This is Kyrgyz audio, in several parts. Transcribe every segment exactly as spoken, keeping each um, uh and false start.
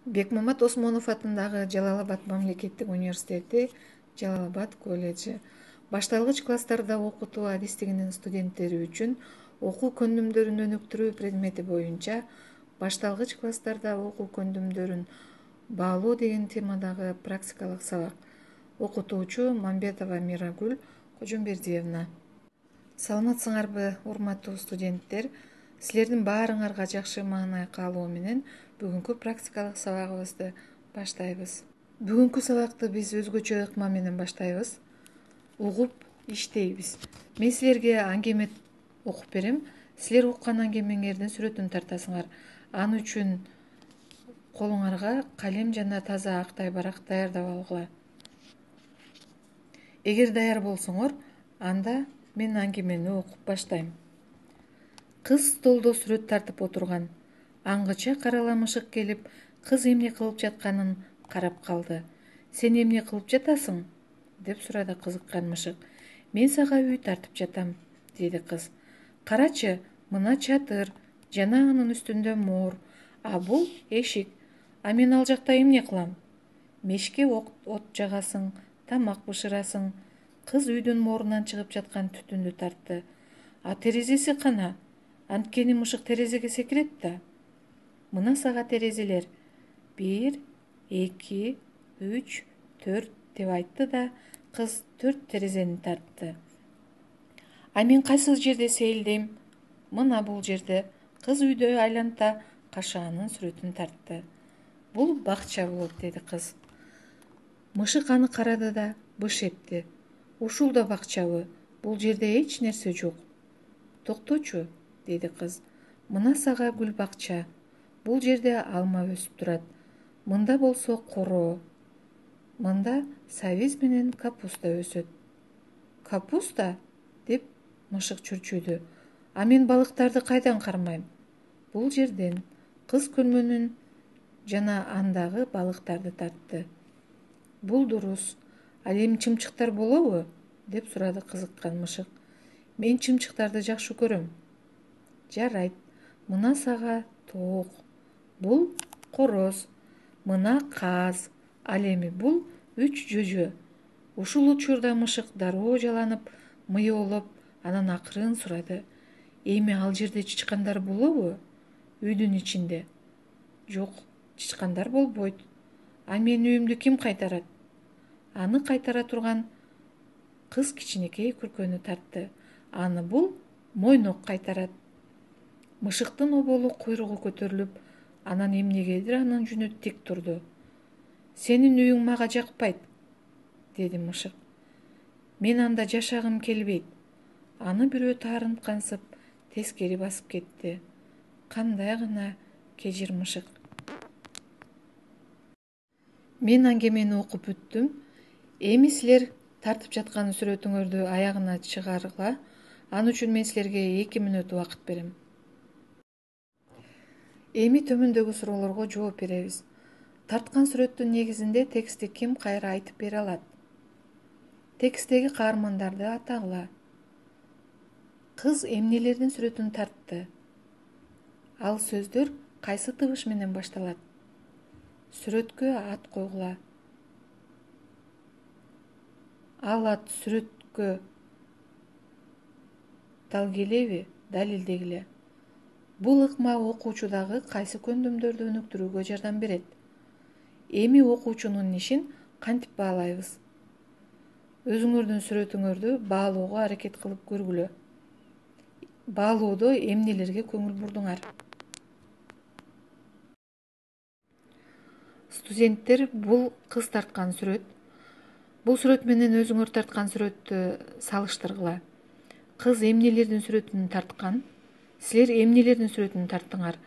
Бекмамат Осмонов атындагы Жалал Абад мамлекеттик университети, Жалал Абад колледжи башталгыч класстарда окутуу адистигинин студенттери үчүн окуу көндүмдөрүн өнүктүрүү предмети боюнча башталгыч класстарда окуу көндүмдөрүн баалоо деген темадагы практикалык сабак. Окутуучу Мамбетова Мирагүл Кожомбердиевна. Саламатсыңарбы, урматтуу студенттер? Силердин баарыңарга жакшы маанай каалоо менен бүгүнкү практикалык сабагыбызды баштайбыз. Бүгүнкү сабакты биз өзгөчө ыкма менен баштайбыз. Угуп иштейбиз. Мен силерге аңгеме окуп берем. Силер уккан аңгемеңердин сүрөтүн тартасыңар. Ал үчүн колуңарга калем жана таза ак тайбарак даярдап алгыла. Эгер даяр болсоңор, анда мен аңгемени окуп баштайм. Кыз столдо сүрөт тартып отурган. Аңгыча карала мышык келип, кыз эмне кылып жатканын карап калды. Сен эмне кылып жатасың? Деп сурады кызыккан мышык. Мен сага үй тартып жатам, деди кыз. Карачы, мына чатыр, жана анын үстүндө моор, а бул эшик. А мен ал жакта эмне кылам? Мешке от жагасың, тамак бышырасың. Кыз үйдүн моорунан чыгып жаткан түтүндү тартты. А терезеси кана? Анткени мышык терезеге секирет да. Мына сага терезелер. Бир, эки, үч, төрт деп айтты да, кыз төрт терезени тартты. А мен кайсы жерде сейилдейм? Мына бул жерде. Кыз үйдө айланта кашаанын сүрөтүн тартты. Бул бакча болот, деди кыз. Мышык аны карады да быш этти. Ушул да бакчабы? Бул жерде эч нерсе жок. Токточу, деди кыз. Мына сага гүл бакча. Бул жерде алма өсүп турат. Мында болсо коро. Мында сабиз менен капуста өсөт. Капуста? Деп мышык чүрчүдү. А мен балыктарды кайдан кармайм? Бул жерден. Кыз көлмөнүн жана андагы балыктарды тартты. Бул дурус. Ал эми чымчыктар болобу? Деп сурады кызыккан мышык. Мен чымчыктарды жакшы көрөм. Жарайт. Мына сага тоок. Бул короз. Мына каз. Ал эми бул үч жөжө. Ушул учурда мышык дароо жаланып, мыйоолоп, анан акырын сурады. Эми ал жерде чычкандар болобу? Үйдүн ичинде. Жок, чычкандар болбойт. А менин үйүмдү ким кайтарат? Аны кайтара турган кыз кичинекей күркөнү тартты. Аны бул мойнок кайтарат. Мышыктын оболу куйругу көтөрүлүп, анан эмнегедир анын жүнү тик турду. Сенин үйүң мага жакпайт, деди мышык. Мен анда жашагым келбейт. Аны бирөө таарынткансып, тескери басып кетти. Кандай гана кежир мышык. Мен аңгемени окуп бүттүм. Эми силер тартып жаткан сүрөтүңөрдү аягына чыгаргыла. Ал үчүн мен силерге эки мүнөт убакыт берем. Эми төмөндөгү суроолорго жооп беребиз. Тарткан сүрөттүн негизинде текстти ким кайра айтып бере алат? Тексттеги каармандарды атагыла. Кыз эмнелердин сүрөтүн тартты? Ал сөздөр кайсы табыш менен башталат? Сүрөткө ат койгула. Ал ат сүрөткө дал келеби? Далилдегиле. Бул ыкма окуучудагы кайсы көндүмдөрдү өнүктүрүүгө жардам берет? Эми окуучунун ишин кантип баалайбыз? Өзүңөрдүн сүрөтүңөрдү баалоого аракет кылып көргүлө. Баалоодо эмнелерге көңүл бурдуңар? Студенттер, бул кыз тарткан сүрөт. Бул сүрөт менен өзүңөр тарткан сүрөттү салыштыргыла. Кыз эмнелердин сүрөтүн тарткан? Силер эмнелердин сүрөтүн тарттыңар?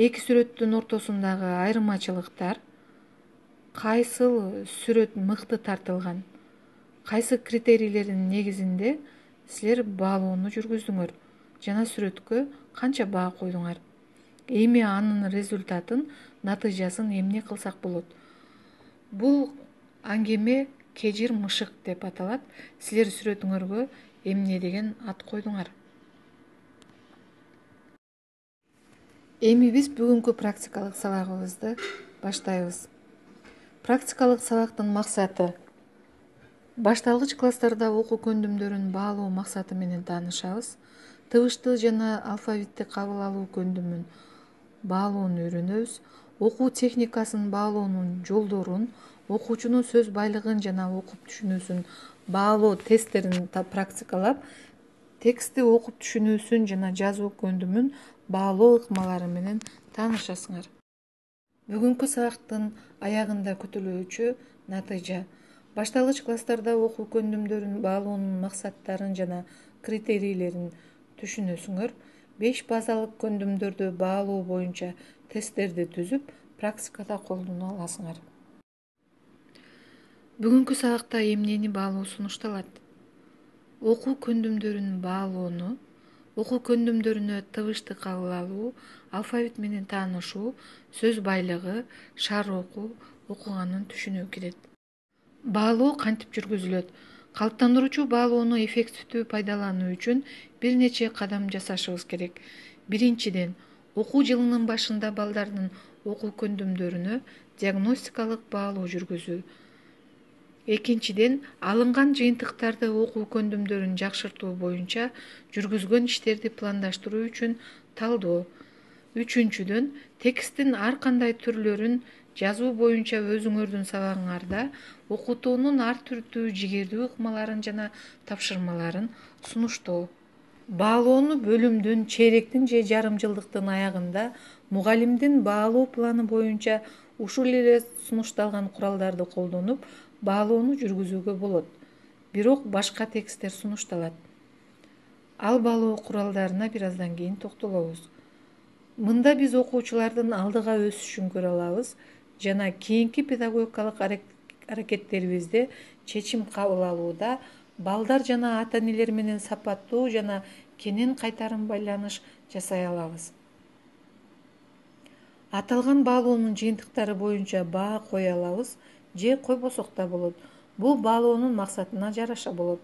Эки сүрөттүн ортосундагы айырмачылыктар? Кайсыл сүрөт мыкты тартылган? Кайсы критерийлердин негизинде силер баалоону жүргүздүңөр жана сүрөткө канча баа койдуңар? Эми анын результатын, натыйжасын эмне кылсак болот? Бул аңгеме кежир мышык деп аталат. Силер сүрөтүңөргө эмне деген ат койдуңар? Эми биз бүгүнкү практикалык сабагыбызды баштайбыз. Практикалык сабактын максаты башталгыч класстарда окуу көндүмдөрүн баалоо максаты менен таанышабыз. Тыбышты жана алфавитти кабыл алуу көндүмүн баалоону үйрөнөбүз. Окуу техникасын баалоонун жолдорун, окуучунун сөз байлыгын жана окуп түшүнүүсүн баалоо тесттерин практикалап, текстти окуп түшүнүүсүн жана жазуу көндүмүн баалоо ыкмалары менен таанышасыңар. Бүгүнкү сабактын аягында күтүлүүчү натыйжа. Башталгыч класстарда окуу көндүмдөрүн баалоонун максаттарын жана критерийлерин түшүнөсүңөр. Беш базалык көндүмдөрдү баалоо боюнча тесттерди түзүп, практикада колдоно аласыңар. Бүгүнкү сабакта эмнени баалоо сунушталат? Окуу көндүмдөрүн баалоону, окуу көндүмдөрүнө тыбышты кабыл алуу, алфавит менен таанышуу, сөз байлыгы, шаар окуу, окуганын түшүнүү кирет. Баалоо кантип жүргүзүлөт? Калыптандыруучу баалоону эффективдүү пайдалануу үчүн бир нече кадам жасашыбыз керек. Биринчиден, окуу жылынын башында балдардын окуу көндүмдөрүнө диагностикалык баалоо жүргүзүү. Экинчиден, алынган жыйынтыктарды окуу көндүмдөрүн жакшыртуу боюнча жүргүзгөн иштерди пландаштыруу үчүн талдоо. Үчүнчүдөн, тексттин ар кандай түрлөрүн жазуу боюнча өзүңөрдүн сабагыңарда окутуунун ар түрдүү жигердүү ыкмаларын жана тапшырмаларын сунуштоо. Баалоону бөлүмдүн, чейректин же жарым жылдыктын аягында мугалимдин баалоо планы боюнча ушул эле сунушталган куралдарды колдонуп баалоону жүргүзүүгө болот. Бирок башка тексттер сунушталат. Ал баалоо куралдарына бир аздан кийин токтолобуз. Мында биз окуучулардын алдыга өсүшүн көрө алабыз жана кийинки педагогикалык аракеттерибизде чечим кабыл алууда балдар жана ата-энелер менен сапаттуу жана кенен кайтарым байланыш жасай алабыз. Аталган баалоонун жыйынтыктары боюнча баа кое алабыз же койбосок да болот. Бул баалоонун максатына жараша болот.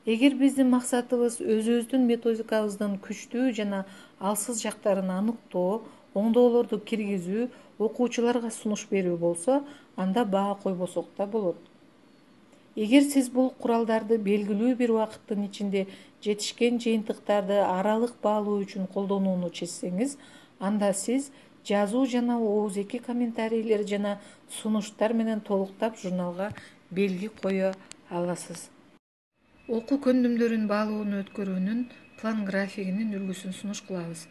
Эгер биздин максатыбыз өзүбүздүн методикабыздын күчтүү жана алсыз жактарын аныктоо, оңдоолорду киргизүү, окуучуларга сунуш берүү болсо, анда баа койбосок да болот. Эгер сиз бул куралдарды белгилүү бир убакыттын ичинде жетишкен жыйынтыктарды аралык баалоо үчүн колдонууну чечсеңиз, анда сиз жазуу жана оозеки комментарийлер жана сунуштар менен толуктап журналга белги кое аласыз. Окуу көндүмдөрүн баалоону өткөрүүнүн план графигинин үлгүсүн сунуш кылабыз.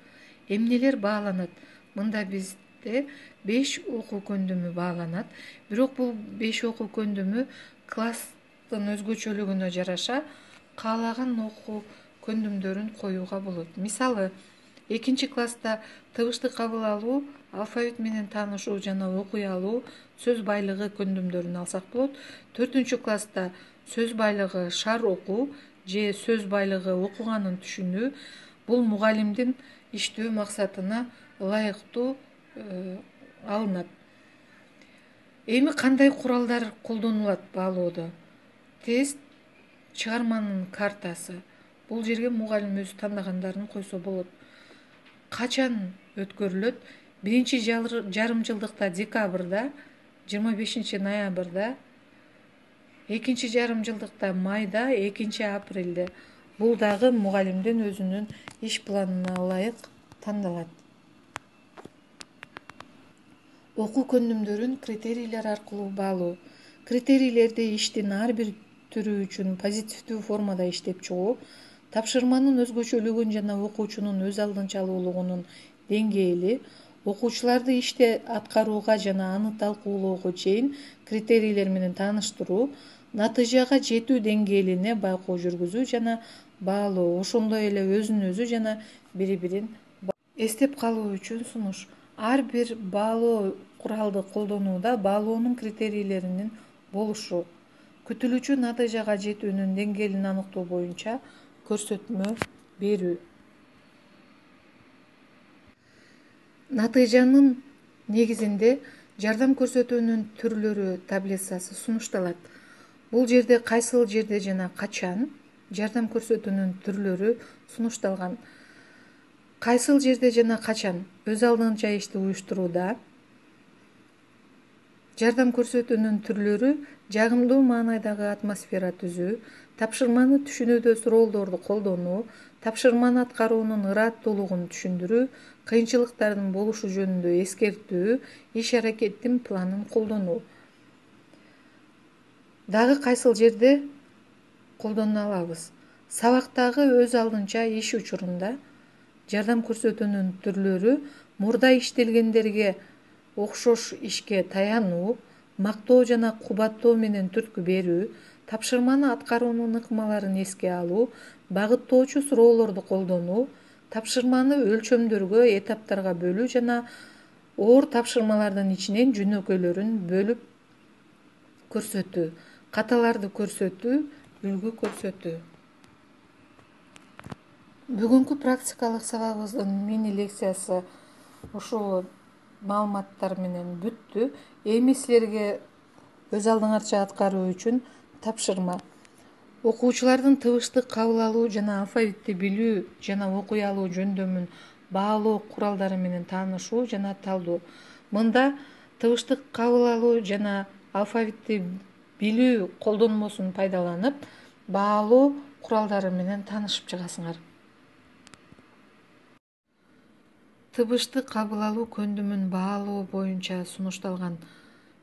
Эмнелер бааланат? Мында бизде беш окуу көндүмү бааланат. Бирок бул беш окуу көндүмү класстын өзгөчөлүгүнө жараша каалаган окуу көндүмдөрүн коюуга болот. Мисалы, экинчи класста тыбышты кабыл алуу, алфавит менен таанышуу жана окуй алуу, сөз байлыгы көндүмдөрүн алсак болот. Төртүнчү класста сөз байлыгы, шаар окуу же сөз байлыгы окуганын түшүнүү. Бул мугалимдин иштөө максатына ылайыктуу алынат. Эми кандай куралдар колдонулат баалоодо? Тест, чыгарманын картасы. Бул жерге мугалим өзү тандагандарын койсо болот. Качан өткөрүлөт? Биринчи жарым жылдыкта декабрда, жыйырма бешинчи ноябрда, экинчи жарым жылдыкта майда, экинчи апрелде. Бул дагы мугалимдин өзүнүн иш планына ылайык тандалат. Окуу көндүмдөрүн критерийлер аркылуу баалоо. Критерийлерди иштин ар бир түрү үчүн позитивдүү формада иштеп чыгуу, тапшырманын өзгөчөлүгүн жана окуучунун өз алдынчалуулугунун деңгээли, окуучуларды ишти аткарууга жана аны талкуулоого чейин критерийлер менен тааныштыруу, натыйжага жетүү деңгээлине байкоо жүргүзүү жана баалоо, ошондой эле өзүн өзү жана бири-бирин эстеп калуу үчүн сунуш. Ар бир баалоо куралды колдонууда баалоонун критерийлеринин болушу, күтүлүүчү натыйжага жетүүнүн деңгээлин аныктоо боюнча көрсөтмө берүү. Натыйжанын негизинде жардам көрсөтүүнүн түрлөрү таблицасы сунушталат. Бул жерде кайсыл жерде жана качан жардам көрсөтүүнүн түрлөрү сунушталган. кайсыл жерде жана качан өз алдынча ишти уюштурууда? Жардам көрсөтүүнүн түрлөрү жагымдуу маанайдагы атмосфера түзүү, тапшырманы түшүнүүдө суроолдорду колдонуу, тапшырманы аткаруунун ырааттуулугун түшүндүрүү, кыйынчылыктардын болушу жөнүндө эскертүү, иш-аракеттин планын колдонуу. Дагы кайсыл жерде колдоно алабыз? Сабактагы өз алдынча иш учурунда жардам көрсөтүүнүн түрлөрү мурда иштелгендерге окшош ишке таянуу, мактоо жана кубаттоо менен түрткү берүү, тапшырманы аткаруунун ыкмаларын эске алуу, багыттоочу суроолорду колдонуу, тапшырманы өлчөмдөргө, этаптарга бөлүү жана оор тапшырмалардын ичинен жөнөкөйлөрүн бөлүп көрсөтүү, каталарды көрсөтүү, үлгү көрсөтүү. Бүгүнкү практикалык сабагыбыздын мини лекциясы ушул маалыматтар менен бүттү. Эми силерге өз алдыңарча аткаруу үчүн тапшырма. Окуучулардын тыбыштык кабыл алуу жана алфавитти билүү жана окуй алуу жөндөмүн баалоо куралдары менен таанышуу жана талдоо. Мында тыбыштык кабыл алуу жана алфавитти билүү колдонмосун пайдаланып, баалоо куралдары менен таанышып чыгасыңар. Тыбыштык кабыл алуу көндүмүн баалоо боюнча сунушталган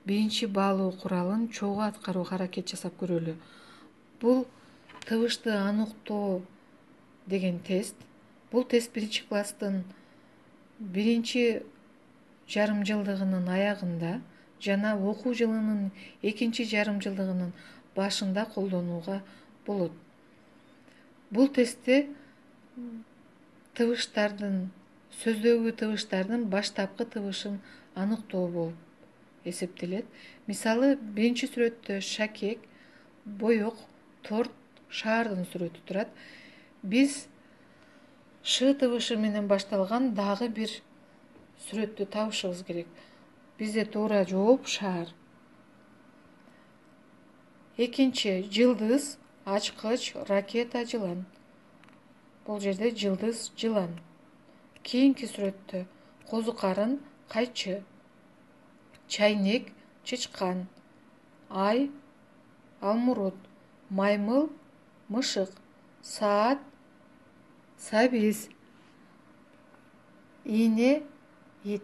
биринчи баалоо куралын чогуу аткарууга аракет жасап көрөлү. Бул тыбышты аныктоо деген тест. Бул тест биринчи класстын биринчи жарым жылдыгынын аягында жана окуу жылынын экинчи жарым жылдыгынын башында колдонууга болот. Бул тестте тыбыштардын, сөздөгү тыбыштардын баштапкы тыбышын аныктоо болуп эсептелет. Мисалы, биринчи сүрөттө шакек, боек, торт, шаардын сүрөтү турат. Биз ш тыбышы менен башталган дагы бир сүрөттү табышыбыз керек. Бизде туура жооп шаар. Экинчи жылдыз, ачкыч, ракета, жылан. Бул жерде жылдыз, жылан. Кийинки сүрөттө козу карын, кайчы, чайнек, чычкан, ай, алмурут, маймыл, мышык, саат, сабиз, ийне, ит.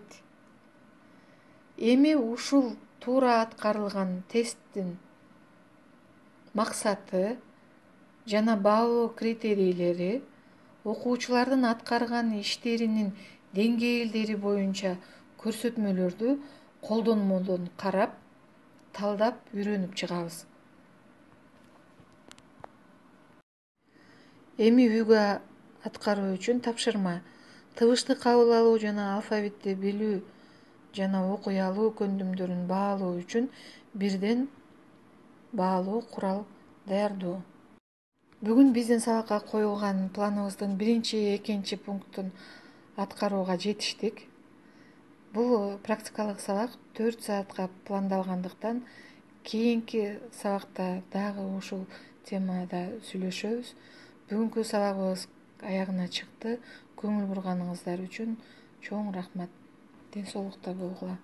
Эми ушул туура аткарылган тесттин максаты жана баалоо критерийлери окуучулардын аткарган иштеринин деңгээлдери боюнча көрсөтмөлөрдү колдонмодон карап, талдап үйрөнүп чыгабыз. Эми үйгө аткаруу үчүн тапшырма. Тыбышты кабыл алуу жана алфавитти билүү жана окуй алуу көндүмдөрүн баалоо үчүн бирден баалоо курал даярдоо. Бүгүн биздин сабакка коюлган планыбыздын биринчи, экинчи пунктун аткарууга жетиштик. Бул практикалык сабак төрт саатка пландалгандыктан кийинки сабакта дагы ушул темада сүйлөшөбүз. Бүгүнкү сабагыбыз аягына чыкты. Көңүл бурганыңыздар үчүн чоң рахмат. Ден соолукта болгула.